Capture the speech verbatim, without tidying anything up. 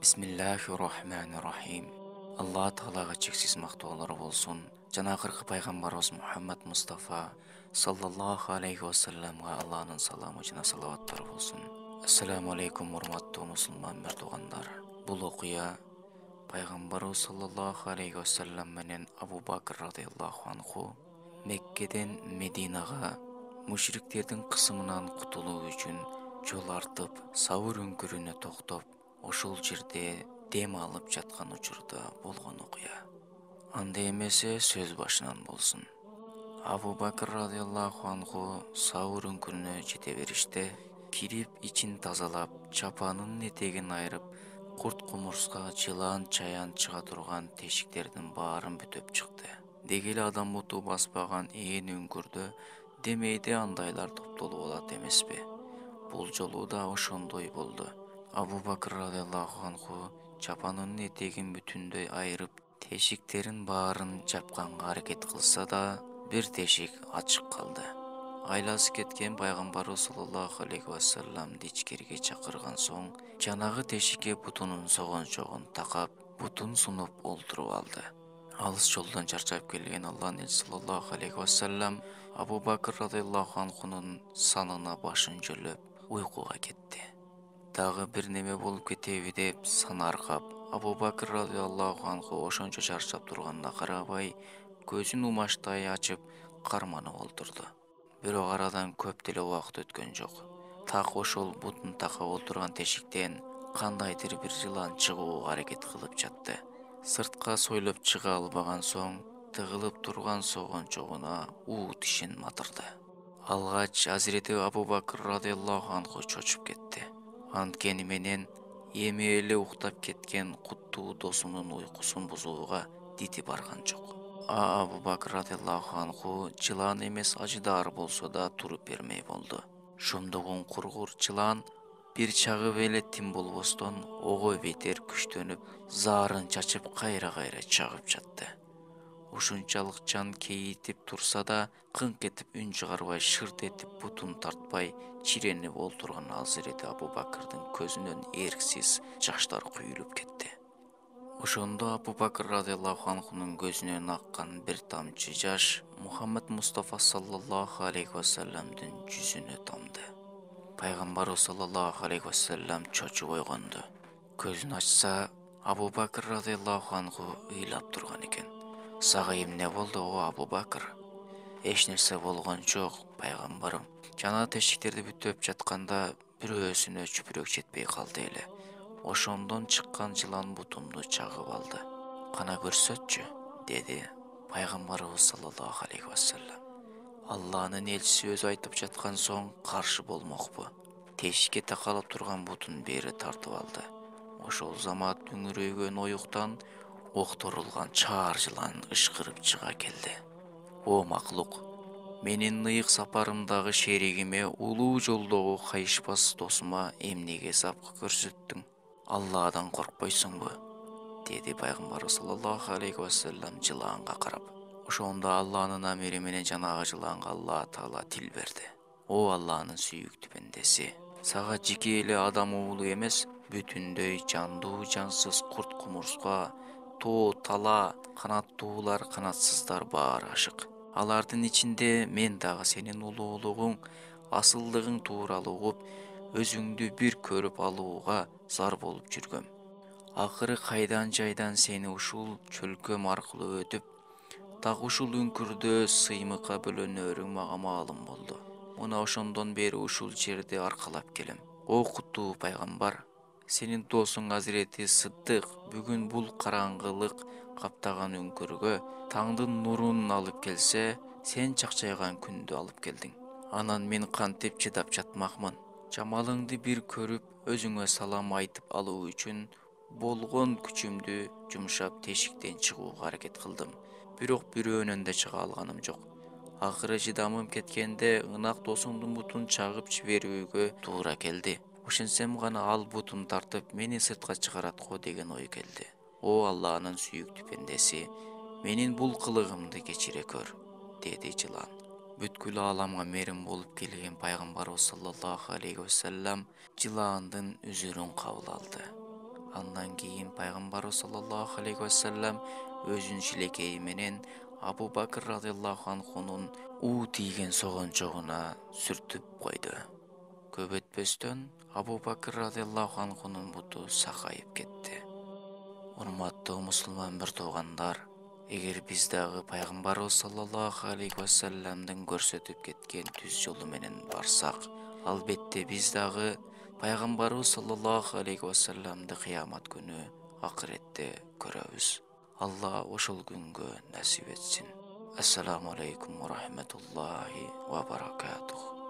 Бисмиллахир-рахманир-рахим. Алла Таалага чексиз мактоолор болсун. Жана акыркы пайгамбарыбыз Мухаммад Мустафа саллаллаху алейхи вассаламга Алланын саламы жана салаваттары болсун. Ассаламу алейкум, урматтуу мусулман мыртугандар. Бул окуя пайгамбарыбыз саллаллаху алейхи вассалам менен Абу Бакр радыйаллаху анху Меккеден Мединага мушриктердин кысымынан кутулуу үчүн жол артып, Саур үңкүрүнө токтоп, ошол жерде дем алып жаткан учурда болгон окуя. Анда эмесе сөз башынан болсун. Абу Бакр радыйаллаху анху Саур үңкүрүнө жете бериште кирип ичин тазалап, чапанынын этегин айрып, курт кумурска, жылан, чаян чыга турган тешиктердин баарын бүтөп чыкты. Деги эле адам буту баспаган ээн үңкүрдө демейде андайлар топтолуп алат эмеспи? Бул жолу да ошондой болду. Абу Бакр радыйаллаху анху чапанынын этегин бүтүндөй айырып, тешиктерин баарын жапканга аракет кылса да, бир тешик ачык калды. Айласы кеткен пайгамбарыбыз саллаллаху алейхи вассаламды ичкериге чакырган соң, жанагы тешикке бутунун согончогун такап, бутун сунуп олтуруп алды. Алыс жолдон чарчап келген Алланын элчиси саллаллаху алейхи вассалам Абу Бакр радыйаллаху анхунун санына башын жөлөп, уйкуга кетти. Дагы бир неме болуп кетеби деп сан аркап, Абу Бакр радыйаллаху анху ошончо чарчап турганына карабай, көзүн умаштай ачып, карманып олтурду. Бирок арадан көп деле убакыт өткөн жок. Так ошол бутун такап олтурган тешиктен кандайдыр бир жылан чыгууга аракет кылып жатты. Сыртка сойлоп чыга албаган соң, тыгылып турган согончогуна уу тишин матырды. Алгач Азирети Абу Бакр радыйаллаху анху чочуп кетти. Анткени менен эми эле уктап кеткен куттуу досунун уйкусун бузууга дити барган жок. А Абу Бакр радыйаллаху анху жылан эмес ажыдаар болсо да туруп бермей болду. Шумдугун кургур жылан бир чагып эле тим болбостон ого бетер күчтөнүп, заарын чачып кайра-кайра чагып жатты. Ушунчалык жан кейитип турса да, кыңк этип үн чыгарбай, шырт этип бутун тартпай чиренип олтурган Азирети Абу Бакрдын көзүнөн эрксиз жаштар куюлуп кетти. Ошондо Абу Бакр радыйаллаху анхунун көзүнөн аккан бир тамчы жаш Мухаммад Мустафа саллаллаху алейхи вассаламдын жүзүнө тамды. Пайгамбарыбыз саллаллаху алейхи вассалам чочуп ойгонду. Көзүн ачса, Абу Бакр радыйаллаху анху ыйлап турган экен. Сага эмне болду, о Абу Бакр? Эч нерсе болгон жок, пайгамбарым. Жана тешиктерди бүтөп жатканда бирөөсүнө чүпүрөк жетпей калды эле. Ошондон чыккан жылан бутумду чагып алды. Кана көрсөтчү, деди пайгамбарыбыз саллаллаху алейхи вассалам. Алланын элчиси өзү айтып жаткан соң каршы болмокпу? Тешикке такалып турган бутун бери тартып алды. Ошол замат үңүрөйгөн оюктан окторулган чаар жылан ышкырып чыга келди. О маклук, менин ыйык сапарымдагы шеригиме, улуу жолдогу кайышпас досума эмнеге сапкы көрсөттүң? Алладан коркпойсуңбу? Деди пайгамбарыбыз саллаллаху алейхи вассалам жылаанга карап. Ошондо Алланын амири менен жанагы жылаанга Алла Таала тил берди. О Алланын сүйүктүү бендеси, сага жеке эле адам уулу эмес, бүтүндөй жандуу жансыз курт кумурска, тоо, тала, канаттуулар, канатсыздар баары ашык. Алардын ичинде мен дагы сенин улуулугуң, асылдыгың тууралуу угуп, өзүңдү бир көрүп алууга зар болуп жүргөм. Акыры кайдан жайдан сени ушул чөлкөм аркылуу өтүп, так ушул үңкүрдө сыймыкка бөлөнөрүң мага маалым болду. Мына ошондон бери ушул жерди аркалап келем. О куттуу пайгамбар, сенин досуң Азирети Сыддык бүгүн бул караңгылык каптаган үңкүргө таңдын нурун алып келсе, сен чакчайган күндү алып келдиң. Анан мен кантип чыдап жатмакмын? Жамалыңды бир көрүп, өзүңө салам айтып алуу үчүн болгон күчүмдү жумшап тешиктен чыгууга аракет кылдым. Бирок бирөөнөн да чыга алганым жок. Акыры жыдамым кеткенде ынак досуңдун бутун чагып жиберүүгө туура келди. Ошентсем гана ал бутун тартып мени сыртка чыгарат го деген ой келди. О Алланын сүйүктүү бендеси, менин бул кылыгымды кечире көр, деди жылан. Бүткүл ааламга мээрим болуп келген пайгамбарыбыз саллаллаху алейхи вассалам жылаандын үзүрүн кабыл алды. Андан кийин пайгамбарыбыз саллаллаху алейхи вассалам өзүнүн шилекейи менен Абу Бакр радыйаллаху анхунун уу тийген согончогуна сүртүп койду. Көп өтпөстөн Абу Бакр радыйаллаху анхунун буту сакайып кетти. Урматтуу мусулман бир туугандар, эгер биз дагы пайгамбарыбыз саллаллаху алейхи вассаламдын көрсөтүп кеткен түз жолу менен барсак, албетте биз дагы пайгамбарыбыз саллаллаху алейхи вассаламды кыямат күнү акыретте көрөбүз. Алла ошол күнгө насип этсин. Ассаламу алейкум ва рахматуллахи ва баракатух.